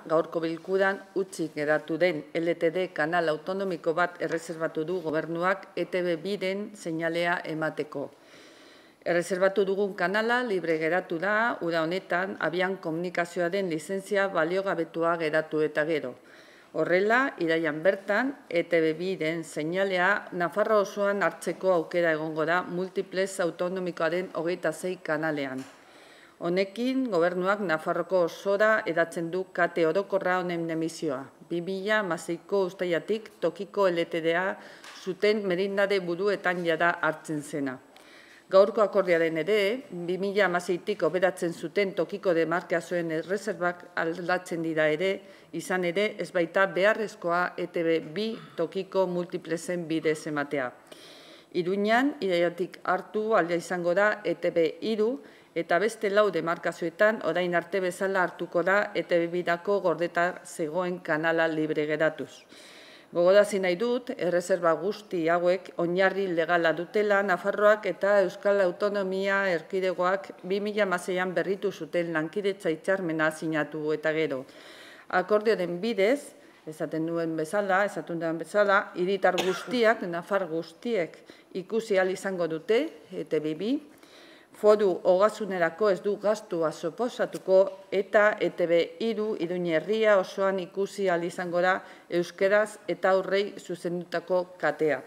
gaurko bilkuran utzik geratu den LTD kanal autonomiko bat erreserbatu du gobernuak ETB2-ren seinalea emateko. Erreserbatu dugun kanala libre geratu da, uda honetan, abian komunikazioaren lizentzia baliogabetua geratu eta gero. Horrela, iraian bertan, ETB2-ren seinalea Nafarroa osoan hartzeko aukera egongo da multiplex autonomikoaren 26 kanalean. Honekin, gobernuak Nafarroko osora edatzen du kate orokorra honen emisioa. 2006ko uztailetik tokiko LTDA zuten merindade buruetan jada hartzen zena. Gaurko akordioaren ere, 2006tik operatzen zuten tokiko demarkazioen erreserbak aldatzen dira ere, izan ere ez baita beharrezkoa ETB2 tokiko multiplexen bidez ematea. Iruñan, iraiatik hartu aldia izango da ETB3 eta beste 4 demarkazioetan orain arte bezala hartuko da ETB2dako gordeta zegoen kanala libre geratuz. Gogorazi nahi dut, erreserba guzti hauek oinarri legala dutela Nafarroak eta Euskal Autonomia Erkidegoak 2006an berritu zuten lankidetza hitzarmena sinatu eta gero. Akordioaren bidez, esaten duen bezala, hiritar guztiak, Nafar guztiek ikusi ahal izango dute ETB2, foru ogasunerako ez du gastua suposatuko eta ETB3 Iruña herria osoan ikusi ahal izango da euskeraz eta aurrei zuzendutako katea.